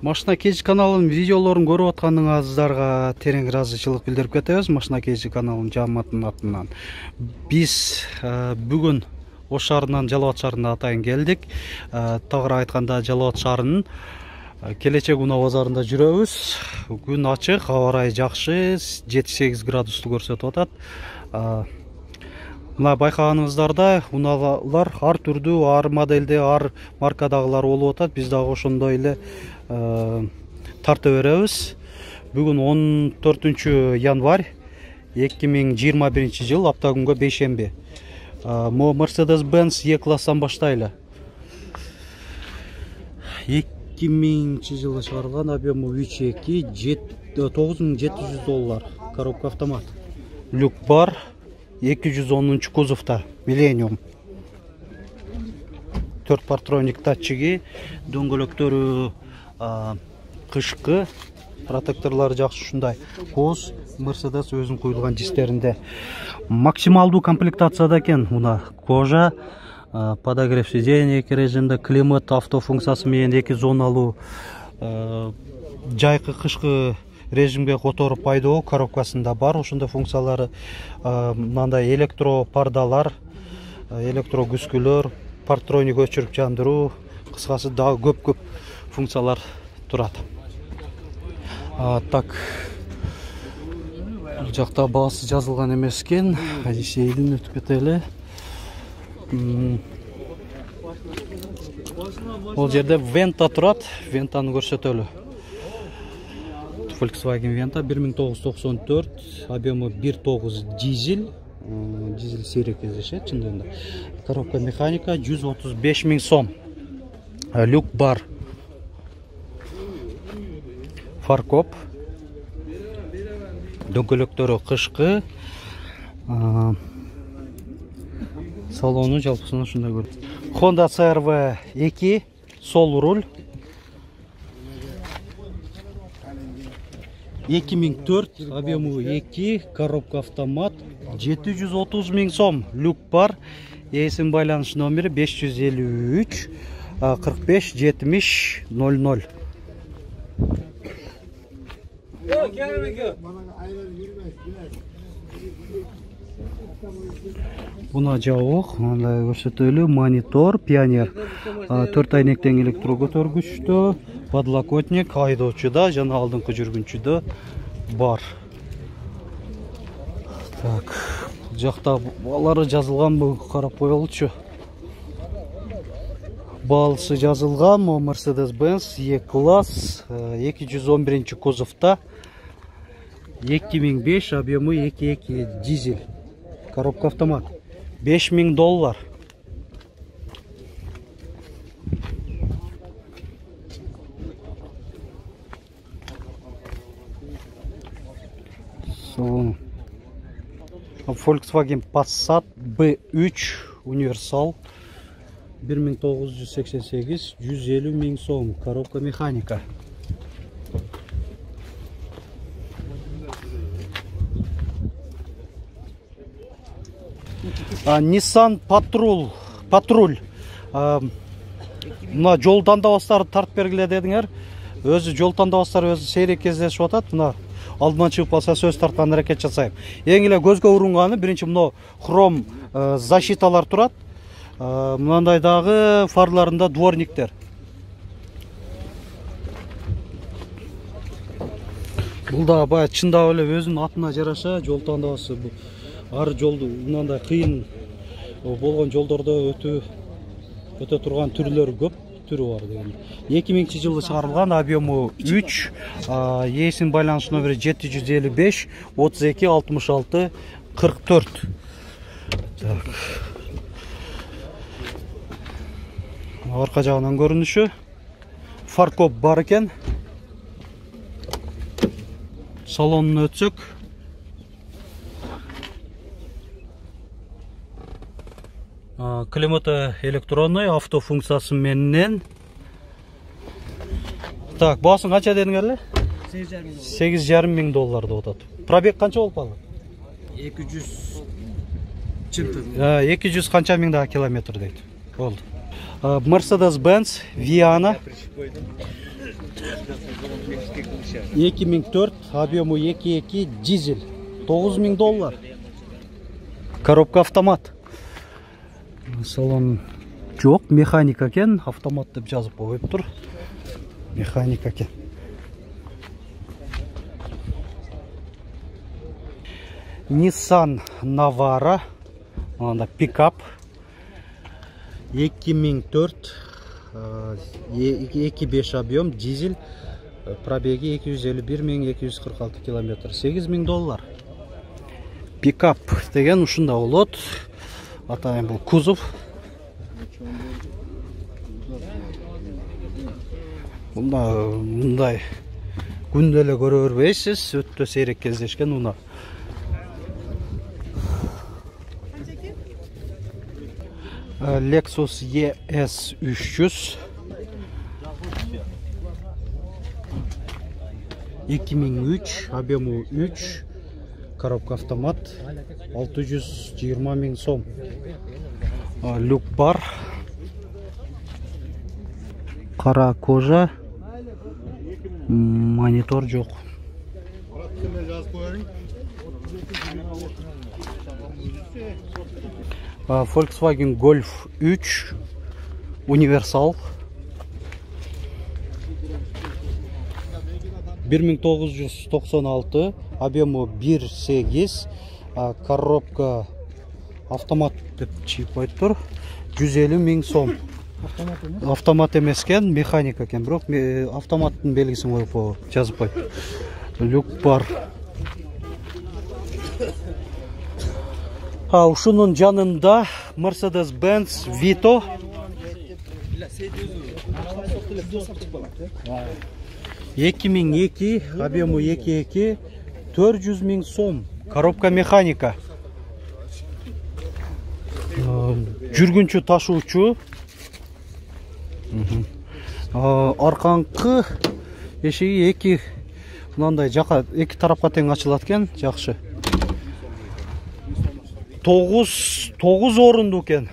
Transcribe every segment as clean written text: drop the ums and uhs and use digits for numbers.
Машина KG каналынын видеолорун көрүп атканыңыздарга терең ыраазычылык билдирип кетебиз. Машина KG каналынын жааматынын атынан биз бүгүн Ош шаарынан Жалал Абад шаарына атайын келдик. Тагыраак айтканда Жалал Абад шаарынын Келечек унаа базарында жүрөбүз. Күн ачык, аба ырайы жакшы, 7-8 градусту көрсөтүп атат. Мына байкаганыңыздарда унаалар ар түрдүү, ар моделде, ар маркадагылар болуп атат. Биз дагы ошондой эле тарта беребиз. Бүгүн 14 январь 2021 жыл, апта күнгө бейшемби. Мо Mercedes-Benz E-класстан баштайлы. 2000 жылы чыгарылган, объему 3.2, $9700, коробка автомат. Люк бар, 210 кузовта, Millennium. 4 партроник датчиги, дөңгөлөктөрү кышкы, протекторлору жакшы ушундай. Коз Mercedes өзүнүн куюлган дистеринде. Максималдуу комплектацияда экен мына кожа, подогрев сидений эки режимде, климат автофункциясы менен 2 зоналуу, жайкы кышкы режимге которуп пайдалоо коробкасында бар. Ошондой функциялары мындай электро пардалар, электро күзгүлөр, партроник өчүрүп жандыруу, кыскасы дагы көп функциялар турат. Так, бул жакта баасы жазылган эмес экен. Сейдин өтүп кетели. Бул жерде Venta турат, Ventаны көрсөтөлү. Volkswagen Venta 1994, объему 1.9 дизель. Дизель сейрек кездешет чындыгында. Коробка механика 135 000 сом. Люк бар. Фаркоп. Дөңгөлөктөрү кышкы. Салону жалпысынан ушундай көрүнөт. Honda CR-V 2, сол руль. 2004, объему 2, коробка автомат, 730 000 сом. Люк бар. Эсин байланыш номери 553 45 70 00. Буна жабык, мындай көрсөтөлү, монитор, пионер, 4 айнектен электро көтөргүчтө, подлокотник, айдоочуда жана алдыңкы жүргүнчүдө бар. Так, бул жакта баалары жазылганбы, карап коелучу. Баасы жазылган, Mercedes-Benz E-класс, 211 кузовта, 2005, объему 2.2 дизель, коробка автомат, $5000. Volkswagen Passat B3 универсал 1988, 150 000 сом, коробка механика. Nissan Patrul. Мына жол тандабастары тартып бергиле дедиңер. Өзү жол тандабастары өзү сейрек кездешип атат. Мына алдыман чыгып калса сөз тарткан аракет жасайм. Эң эле көзгө урунганы биринчи мына хром защиталар турат. Мындай дагы фарларында дворниктер. Бул да бая чындап эле өзүнүн атына жараша жол тандабасы. Ар жолду мындай кыйын болгон жолдордо өтө турган түрлөр көп түрү бар деген. 2000 жылы чыгарылган, объему 3, эсин байланыш номери 755 32 66 44. Так. Арка жагынан көрүнүшү. Фаркоп бар экен. Салонун өтсөк. Климаты электронный, автофункциясы менен. Так, баасын канча дедиңер эле? $8,5 000 деп атат. Пробег канча болуп калды? 200 чынтын. 200 канча миңдагы километр дейт. Болду. Mercedes-Benz Viana 2004, объему 2.2, дизель, $9000. Коробка автомат. Салон жоқ, механика екен, автомат деп жазып қойып тұр. Механика екен. Nissan Navara, анда пикап 2004, 2.5 объем, дизель, пробеги 251 246 километр, $8000. Пикап деген ушунда болот. Атайын бул кузов. Мындай күндө эле көрө бербейсиз, өтө сейрек кездешкен унаа. Lexus ES 300 2003, объему 3, коробка автомат, $620 000. Люк бар, кара кожа, монитор жоқ. Volkswagen Golf 3 универсал 1996, объему 1.8, коробка автомат деп чийип айтып, $150 000. Автомат эмес экен, механика экен, бирок автоматтын белгисин коюп жазып койду. Люк бар. Ушунун жанында Mercedes-Benz Vito 2002, объему 2.2, $400 000. Коробка механика. Жүргүнчү ташуучу. Арканкы эшиги эки мындай жака эки тарапка тең ачылат экен, жакшы. 9 орунду экен.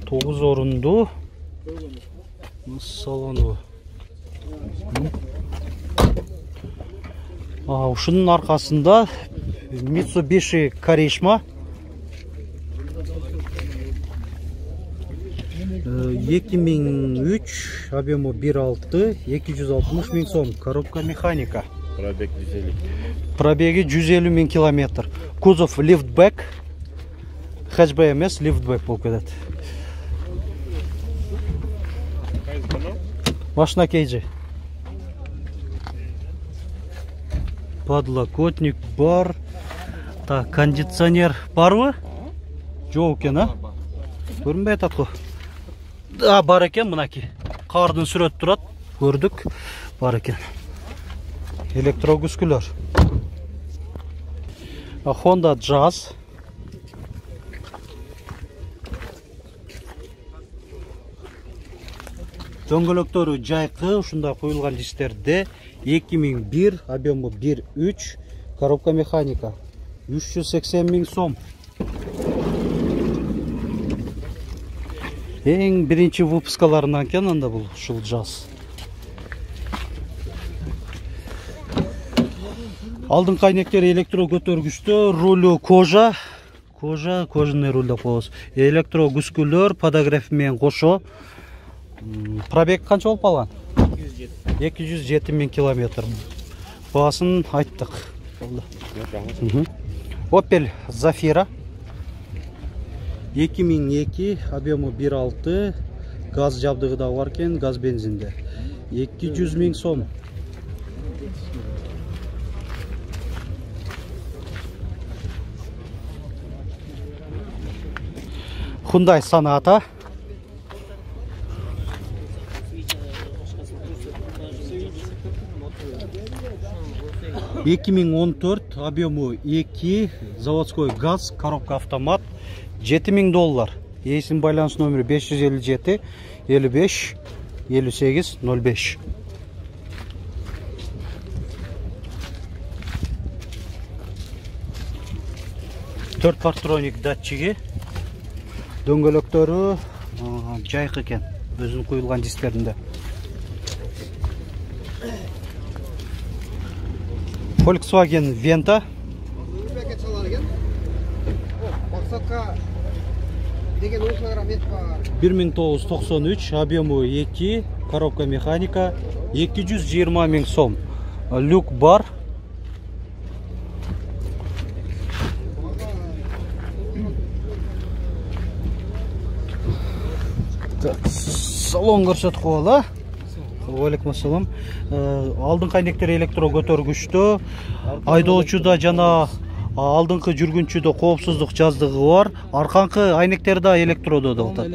9 орунду. Салону. Ушунун аркасында Mitsubishi Karishma 2003, объему 1.6, $260 000. Коробка механика. Пробеги 150 000 километр. Кузов лифтбэк. Хэтчбэк эмес, лифтбэк болуп кетет. Машина кейджи. Подлокотник бар. Так, кондиционер барбы? Жок экен, а? Көрүнбөй атат го. Бар экен, мынаки. Кардын сүрөтү турат. Көрдүк. Бар экен. Электрогүскүлөр. Honda Jazz. Дөңгөлөктөрү жайкы, ушундай коюлган дистерде 2001, объему 1.3, коробка механика, $380 000. Эң биринчи выпускаларынан экен анда бул ушул Jazz. Алдыңкы айнектери электро көтөргүчтө, рулу кожа, кожаный руль деп коебуз. Электро күскүлөр, подогрев менен кошо. Пробег канча болуп калган? 207 000 километр. Баасын айттык. Opel Zafira 2002, объему 1.6, газ жабдыгы да бар экен, газ бензинде. $200 000. Hyundai Sonata 2014, объему 2, заводской газ, коробка автомат, $7000. Эсин байланыш номери 557 55 58 05. Төрт партроник датчиги, дөңгөлөктөрү Жайкы экен өзүнүн куюлган дисклеринде. Volkswagen Venta. Максатка деген 10 килограмм ет бар. 1993, объему 2, коробка механика, 220 000 сом. Люк бар. Салон көрсөтүп коелу. Алейкум ассалам. Алдыңкы айнектер электро көтөргүчтүү. Айдоочуда жана алдыңкы жүргүнчүдө коопсуздук жаздыгы бар. Арканкы айнектер да электродо да.